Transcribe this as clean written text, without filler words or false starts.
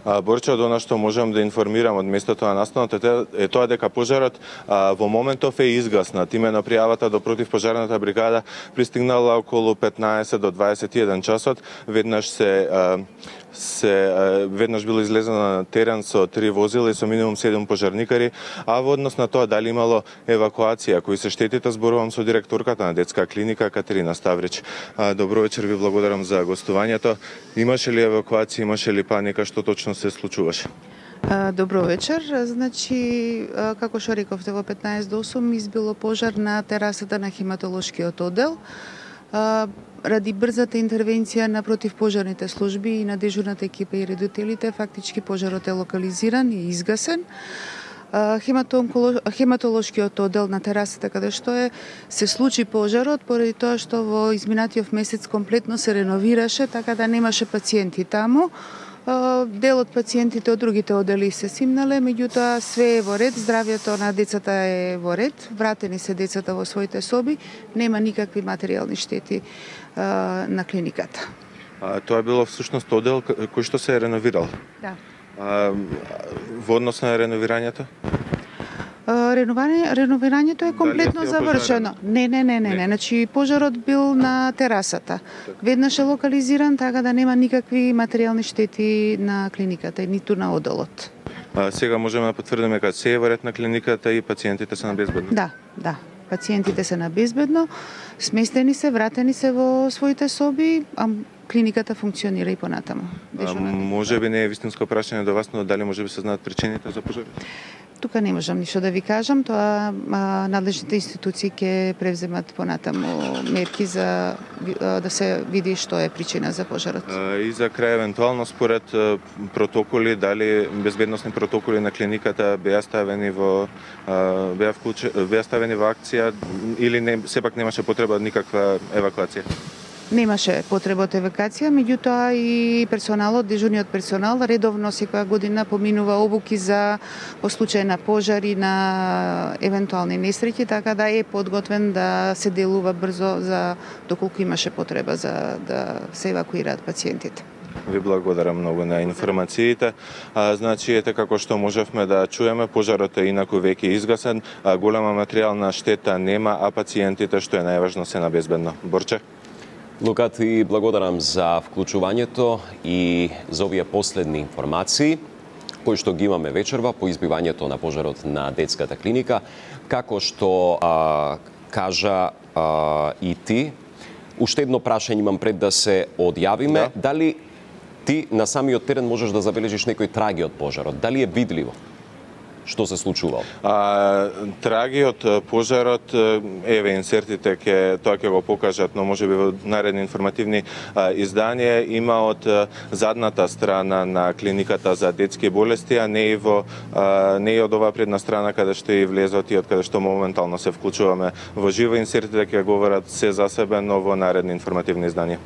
Борче, од она што можам да информирам од местото на настанот е тоа дека пожарот во моментов е изгаснат. Имено пријавата до противпожарната бригада пристигнала околу 15 до 21 часот. Веднаш било излезено на терен со 3 возила и со минимум 7 пожарникари, а во однос на тоа дали имало евакуација, кои се штетите, зборувам со директорката на детска клиника Катерина Ставрич. Добро вечер, ви благодарам за гостувањето. Имаше ли евакуација, имаше ли паника, што точно се случуваше? Добро вечер. Значи, како што рековте, во 15 до 8 избило пожар на терасата на хематолошкиот оддел. Ради брзата интервенција на противпожарните служби и на дежурната екипа и редителите, фактички пожарот е локализиран и изгасен. Хематолошкиот оддел на терасата каде што се случи пожарот поради тоа што во изминатиот месец комплетно се реновираше, така да немаше пациенти таму. Дел од пациентите од другите оддели се симнале, меѓутоа све е во ред, здравјето на децата е во ред, вратени се децата во своите соби, нема никакви материјални штети на клиниката. Тоа било всушност оддел кој што се е реновирал? Да. Во однос на реновирањето? Реновирањето е комплетно завршено. Не. Значи пожарот бил на терасата. Веднаш е локализиран, така да нема никакви материјални штети на клиниката, ниту на одделот. Сега можеме да потврдиме дека се е во ред на клиниката и пациентите се на безбедно? Да. Пациентите се на безбедно, сместени се, вратени се во своите соби, а клиниката функционира и понатаму. Може би не е вистинско прашање до вас, но дали може би се знаат причините за пожарот? Тука не можам ништо да ви кажам, тоа надлежните институции ќе превземат понатаму мерки за да се види што е причина за пожарот. И за крај, евентуално според протоколи, дали безбедносни протоколи на клиниката беа ставени во акција или сепак немаше потреба од никаква евакуација? Немаше потреба од евакуација, меѓутоа и персоналот, дежурниот персонал редовно секоја година поминува обуки по случај на пожари, на евентуални несреќи, така да е подготвен да се делува брзо за доколку имаше потреба за да се евакуираат пациентите. Ви благодарам многу на информациите. Значи, ете како што можевме да чуеме, пожарот е инаку веќе изгасен, голема материјална штета нема, а пациентите, што е најважно, се на безбедно. Борче? Лука, ти благодарам за вклучувањето и за овие последни информации кои што ги имаме вечерва по избивањето на пожарот на детската клиника. Како што кажа и ти, уште едно прашање имам пред да се одјавиме. Да. Дали ти на самиот терен можеш да забележиш некој траги од пожарот? Дали е видливо што се случувало? Траги од пожарот, еве инсертите тоа ќе го покажат, но можеби во наредни информативни изданија, има од задната страна на клиниката за детски болести, а не и од оваа предна страна каде што и влезот и од каде што моментално се вклучуваме во живо. Инсертите ќе говорат се за себе, но во наредни информативни изданија.